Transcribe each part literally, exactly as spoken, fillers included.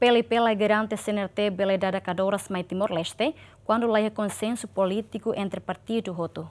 P L P la garante C N R T bele dada kadoras mai Timor-Leste, kuandu la iha konsensu polítiku entre partidu hotu.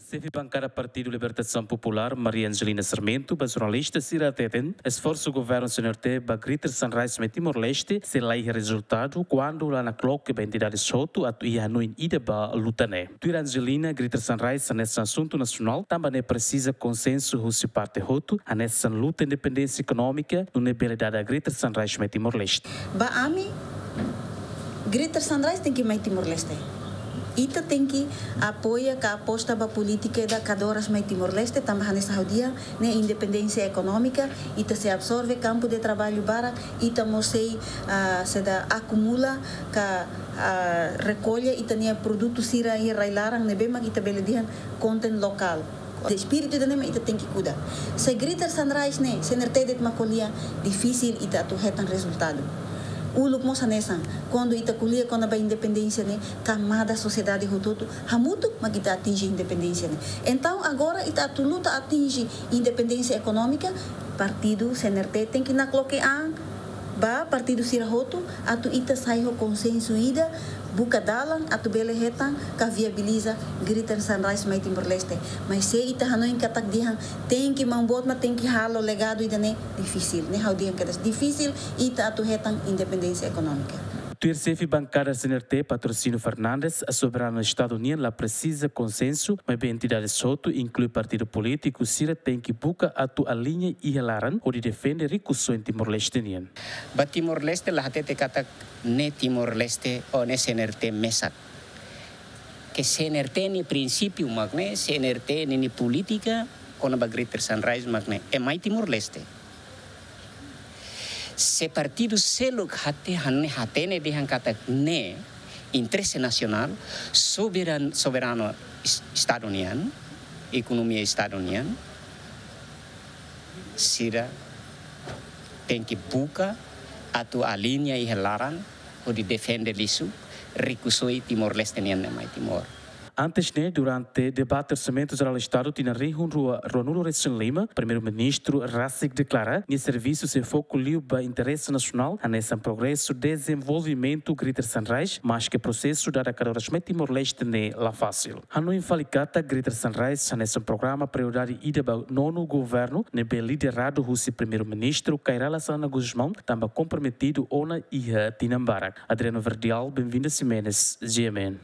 Xefe bankada Partidu Libertasaun Populár, Maria Angelina Sarmento, ba jornalista sira hateten, esforsu governu C N R T ba Greater Sunrise mai Timor-Leste sei la iha rezultadu kuandu la nakloke ba entidades hotu atu iha hanoin ida ba luta ne'e. Tuir Angelina, Greater Sunrise hanesan asuntu nasionál, tanba ne'e presiza konsensu husi parte hotu, hanesan luta independénsia ekonómika, nune'e bele dada Greater Sunrise mai Timor-Leste. Ba ami, Greater Sunrise tenke mai Timor-Leste. Ita tenke apoia ka aposta ba polítika ida kadoras mai Timor-Leste, tanba hanesan ha'u dehan, ne'e independénsia ekonómika, ita sei absorve kampu de traballu barak, ita mós sei, ah, sei akumula ka, ah, rekolla ita-nia produtu sira iha rai-laran ne'ebé mak ita bele dehan konten lokál. Espíritu ida-ne'e mak ita tenke kuda. Se Greater Sunrise ne'e, C N R T de'it mak ko'alia, difisil ita atu hetan rezultadu. Uluk mós hanesan, kuandu ita ko'alia kona-ba independénsia ne'e, kamada sosiedade hotu-hotu, hamutuk mak ita atinje independénsia ne'e. Entaun, agora ita atu luta atinje independénsia ekonómika, partidu C N R T tenke nakloke an ba partidu sira hotu, atu ita sai ho konsensu ida, buka dalan atu bele hetan ka viabiliza Greater Sunrise mai Timor-Leste. Mas se ita hanoin katak dehan tenke maun boot mak tenke halo legadu ida-ne'e, difisil, ne'e ha'u dehan kedas, difisil ita atu hetan independénsia ekonómika. Tuir xefe bankada C N R T, Patrocínio Fernandes, soberanu Estadu nian la presiza konsensu, maibé entidades hotu, inklui partidu polítiku sira, tenke buka atu aliña iha laran hodi defende rikusoin Timor-Leste nian. Ba Timor-Leste la hatete katak ne'e Timor-Leste ou ne'e C N R T mesak. Ke C N R T nia prinsípiu mak ne'e, C N R T nia, nia polítika kona-ba Greater Sunrise mak ne'e, é mai Timor-Leste. Se partidu seluk hate-, hane-, hatene dehan katak ne'e interese nasionál, soberan-, soberanu es-, Estadu nian, ekonomia Estadu nian, sira tenke buka atu aliña iha laran hodi defende lisu rikusoin Timor-Leste nian ne'e mai Timor. Antes ne'e, durante debate Orsamentu Jerál Estadu tinan rihun rua ruanulu resin lima, Primeiru-Ministru rasik deklara nia servisu sei foku liu ba interese nasionál, hanesan progresu dezenvolvimentu Greater Sunrise, maske prosesu dada kadoras mai Timor-Leste ne'e la fasil. Hanoin fali katak Greater Sunrise hanesan programa prioridade ida ba nonu governu, ne'ebé lideradu husi Primeiru-Ministru Kay Rala Xanana Gusmão, tanba komprometidu ona iha tinan barak. Adriano Verdial, Benvinda Ximenes, G M N.